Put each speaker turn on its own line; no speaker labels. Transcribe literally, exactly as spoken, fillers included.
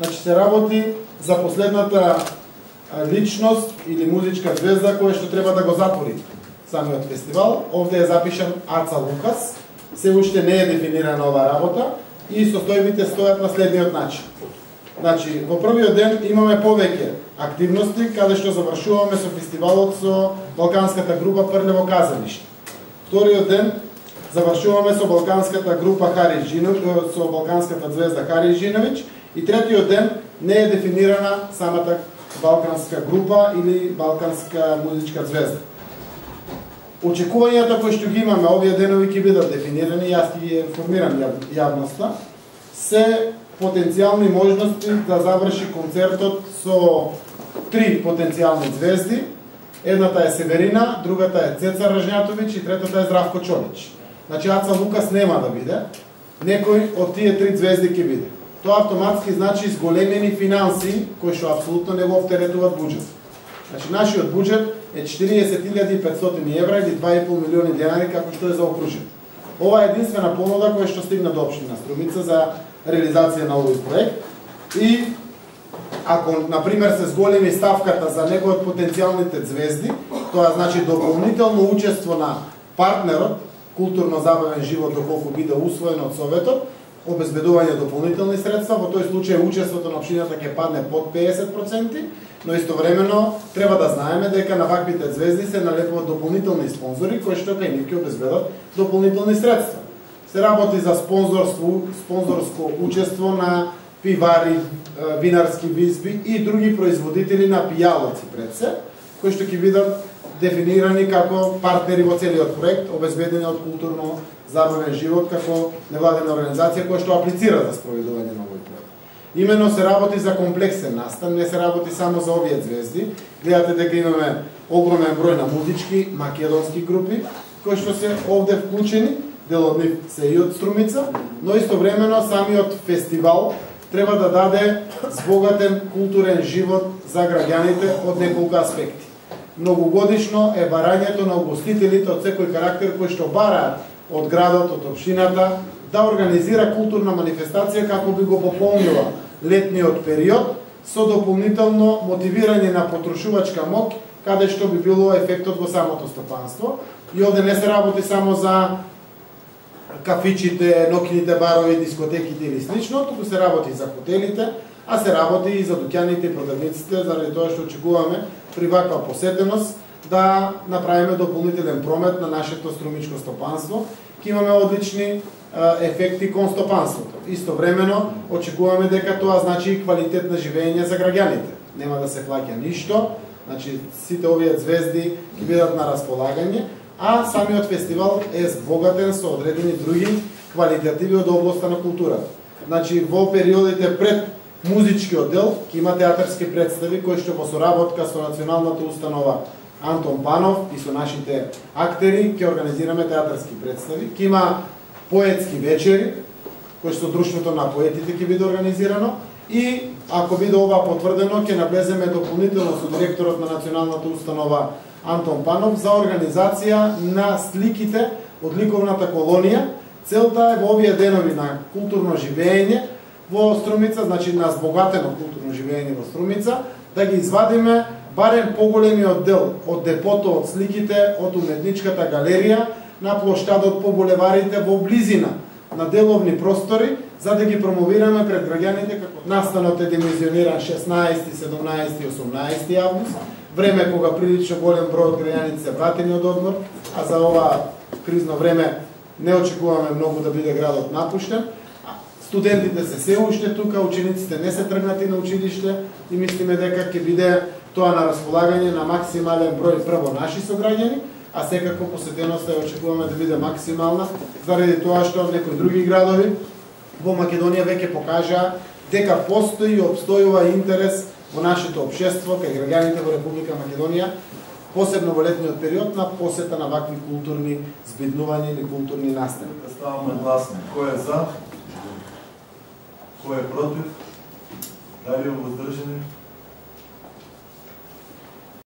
Значи се работи за последната личност или музичка звезда која што треба да го затвори самиот фестивал. Овде е запишан Аца Лукас. Се уште не е дефинирана оваа работа и состојбите стојат на следниот начин. Значи, во првиот ден имаме повеќе активности, каде што завршуваме со фестивалот со балканската група Прљево казалиште. Вториот ден завршуваме со балканската група Хари Жиновиќ, со балканската звезда Хари Жиновиќ, и третиот ден не е дефинирана самата балканска група или балканска музичка звезда. Очекувањата кои што ги имаме овие денови ќе бидат дефинирани, јас ќе ги информирам јавноста, се потенцијални можности да заврши концертот со три потенцијални звезди. Едната е Северина, другата е Цеца Ражњатовиќ и третата е Здравко Чолич. Значи Аца Лукас нема да биде, некој од тие три звезди ќе биде. Тоа автоматски значи зголемени финанси кои што апсолутно не го оптеретуваат буџет. Значи нашиот буџет е четириесет илјади и петстотини евра или два и пол милиони денари како што е заокружен. Ова е единствена понуда која што стигна до општина Струмица за реализација на овој проект. И ако на пример се зголеми ставката за некој од потенцијалните звезди, тоа значи дополнително учество на партнерот, културно-забавен живот доколку биде усвоен од Советот, обезбедување дополнителни средства, во тој случај учеството на општината ќе падне под педесет проценти, но истовремено треба да знаеме дека на ваквите звезди се налепуваат дополнителни спонзори кои што кај нив ќе обезбедат дополнителни средства. Се работи за спонзорство, спонзорско учество на пивари, винарски визби и други производители на пијалоци пред се, кои што ќе бидат дефинирани како партнери во целиот проект, обезбедени од културно забавен живот како невладена организација која што аплицира за спроведување на овој проект. Имено се работи за комплексен настан, не се работи само за овие звезди. Гледате дека имаме огромен број на музички македонски групи кои што се овде вклучени, дел од нив се и од Струмица, но истовремено самиот фестивал треба да даде збогатен културен живот за граѓаните од неколку аспекти. Многогодишно е барањето на угостителите од секој карактер кои што бараат од градот, од општината, да организира културна манифестација како би го пополнила летниот период со дополнително мотивирање на потрошувачка моќ, каде што би било ефектот во самото стопанство. И овде не се работи само за кафичите, ноќните барови, дискотеките или слично, туку се работи за хотелите, а се работи и за дуќаните и продавниците, заради тоа што очекуваме при ваква посетеност да направиме дополнителен промет на нашето струмичко стопанство. Ке имаме одлични ефекти кон стопанството. Истовремено очекуваме дека тоа значи и квалитет на живење за граѓаните. Нема да се плаќа ништо, значи сите овие звезди ќе бидат на располагање, а самиот фестивал е збогатен со одредени други квалитативи од областа на културата. Значи во периодите пред музичкиот дел ќе има театарски представи кои што во соработка со националната установа Антон Панов и со нашите актери ќе организираме театарски представи. Ќе има поетски вечери, кои што друштвото на поетите ќе биде организирано, и ако биде ова потврдено, ќе навлеземе дополнително со директорот на националната установа Антон Панов за организација на сликите од ликовната колонија. Целта е во овие денови на културно живење во Струмица, значи на збогатено културно живење во Струмица, да ги извадиме барем поголемиот дел од депото од сликите од уметничката галерија на плоштадот по булеварите во близина на деловни простори, за да ги промовираме пред граѓаните како настанот е димenzionиран шеснаесети, седумнаесети и осумнаесети август, време кога прилично голем број од граѓаните се вратени од одмор, а за ова кризно време не очекуваме многу да биде градот напуштен. Студентите се се уште тука, учениците не се тргнати на училиште и мислиме дека ќе биде тоа на располагање на максимален број прво наши сограѓани, а секако посетеноста ја очекуваме да биде максимална, заради тоа што некои други градови во Македонија веќе покажаа дека постои и обстојува интерес во нашето општество кај граѓаните во Република Македонија, посебно во летниот период, на посета на вакви културни збиднувања или културни настани.
Ставаме гласни. Кој е за? Кој е против? Дали е воздржани?